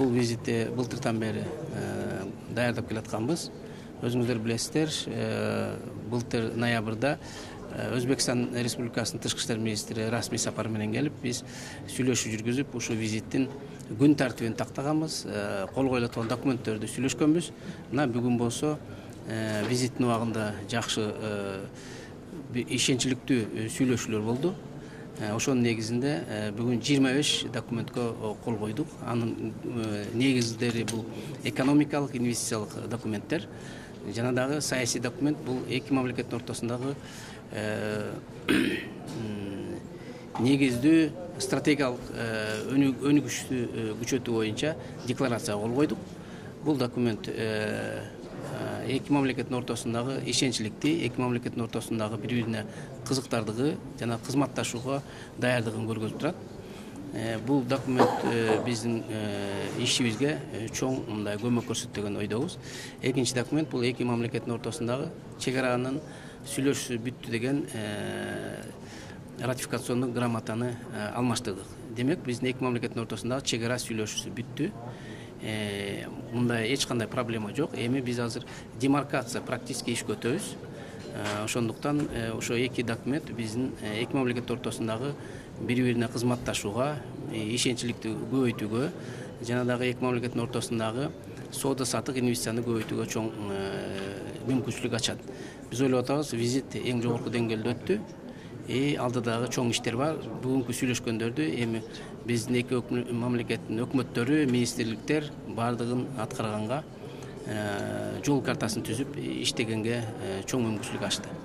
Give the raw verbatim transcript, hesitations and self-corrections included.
бул визитти былтыртан бери даярдап келатканбыз. Өзүңүздөр билесиздер, былтыр ноябрда Өзбекстан Республикасынын тышкы иштер министри расмий сапар менен келип, биз сүйлөшүү жүргүзүп, ушул визиттин күн тартибин тактаганбыз, кол коюла турган документтерди сүйлөшкөнбүз. Мына бүгүн болсо визиттин убагында жакшы ишенчиликтүү сүйлөшүүлөр болду. Ошонун негизинде бүгүн жыйырма беш документке кол койдук. Анын негиздери бул экономикалык, инвестициялык документтер. Жана дагы саясий документ бул эки мамлекеттин ортосундагы негиздүү стратегиялык өнүгүштү күчөтүү боюнча декларацияга кол койдук. Бул документ эки мамлекеттин ортосундагы ишенчиликти, эки мамлекеттин ортосундагы бири-бирине кызыктардыгы жана кызматташууга даярдыгын көргөзүп турат. Бул документ биздин ишибизге чоң мындай көмөк көрсөтөт деген ойдобуз. Экинчи документ бул эки мамлекеттин ортосундагы чек аранын сүйлөшүүсү бүттү деген ратификациондук грамотаны алмаштырдык. Демек, биздин эки мамлекеттин ортосундагы чек ара сүйлөшүүсү бүттү. Мындай эч кандай проблема жок. Эми биз азыр демаркация практически ишке өтөбүз. Ошондуктан ошо эки документ биздин эки мамлекет ортосундагы бири-бирине кызматташууга, ишенчиликти көбөйтүүгө жана дагы эки мамлекеттин ортосундагы соода саттык, инвестицияны көбөйтүүгө чоң мүмкүнчүлүк ачат. Биз ойлоп атабыз, визит эң жогорку деңгээлде өттү. И алдыдагы чоң иштер бар. Бүгүнкү сүйлөшкөндөрдү эми биздин эки мамлекеттин өкмөттөрү, министрликтер бардыгын аткарганга, жол картасын түзүп иштегенге чоң мүмкүнчүлүк ачты.